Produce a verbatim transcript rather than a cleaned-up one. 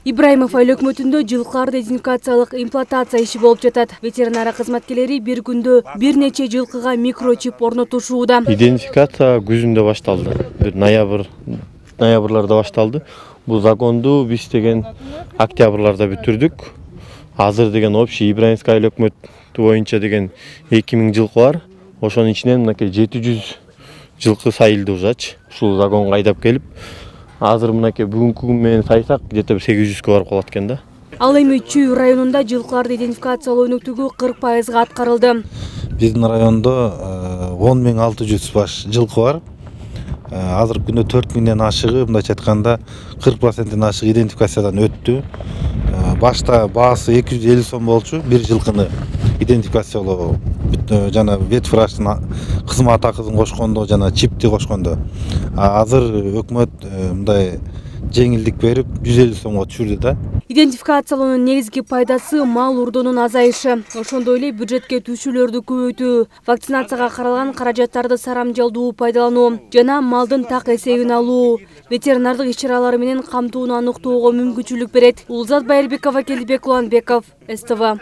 Ибраимов айыл өкмөтүндө жылкыларды идентификациялык имплантация иши болуп жатат. Ветеринария кызматкерлери бир күндө бир нече жылкыга микрочип орнотушууда. Идентификация күзүндө башталды. Бир ноябрь ноябрларда башталды. Бул законду биз деген октябрларда бүтүрдүк. Азыр деген общий Ибраимовский айыл өкмөтү боюнча деген эки миң жылкы бар. Ошонун ичинен мынакей жети жүз жылкы сайылды ужач. Ушул законго айдап келип, азыр мынакей бүгүнкү күн менен сайсак, где-то сегиз жүзгө барып калат экен да. Ал эми Чүй районунда жылкыларды идентификациялоо өнүктүгү кырк пайызга аткарылды. Биздин райондо он миң алты жүз баш жылкы бар. Азыркы күндө төрт миңден ашыгы, мындайча айтканда кырк проценттен ашыгы идентификациядан өттү. Башта баасы эки жүз элүү сом болчу бир жылкыны идентификациялоо. Жана ветврачтын кызмат акысын кошкондо, жана чипти кошкондо. Азыр өкмөт мындай жеңилдик берип жүз элүү сомго түшүрдү да. Идентификациялоонун негизги пайдасы мал урдоонун азайышы. Ошондой эле бюджетке түшүүлөрдү көбөйтүү, вакцинацияга каралган каражаттарды сарамжалдуу пайдалануу жана малдын так эсебин алуу, ветеринардык иш-чаралар менен камтууну аныктоого мүмкүнчүлүк берет. Улузат Байырбекова, Келдибек Уланбеков, С Т В.